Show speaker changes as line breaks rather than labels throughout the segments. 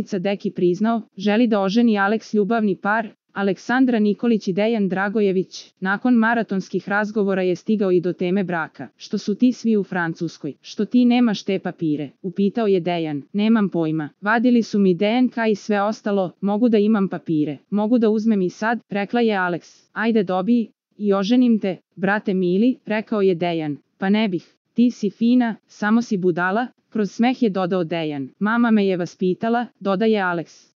Danica Deki priznao, želi da oženi Aleks ljubavni par, Aleksandra Nikolić i Dejan Dragojević. Nakon maratonskih razgovora je stigao i do teme braka. Što su ti svi u Francuskoj? Što ti nemaš te papire? Upitao je Dejan. Nemam pojma. Vadili su mi DNK i sve ostalo, mogu da imam papire. Mogu da uzmem i sad, rekla je Aleks. Ajde dobij i oženim te, brate mili, rekao je Dejan. Pa ne bih. Ti si fina, samo si budala, kroz smeh je dodao Dejan. Mama me je vaspitala, dodaje Aleks.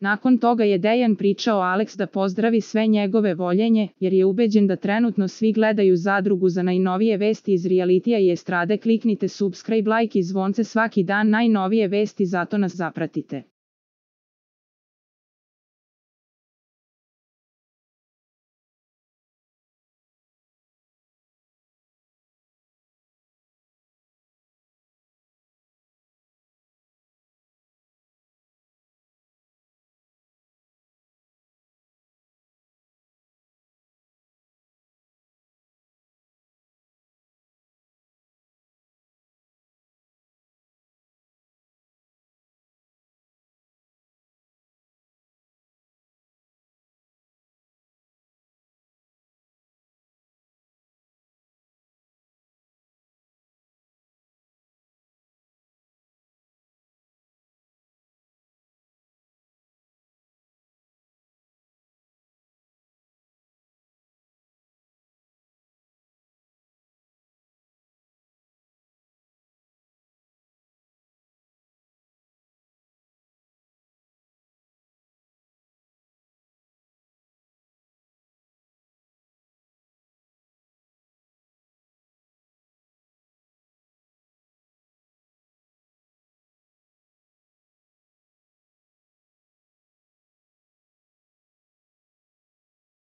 Nakon toga je Dejan pričao Aleks da pozdravi sve njegove voljenje, jer je ubeđen da trenutno svi gledaju Zadrugu. Za najnovije vesti iz realitija i estrade kliknite subscribe, like i zvonce svaki dan, najnovije vesti, zato nas zapratite.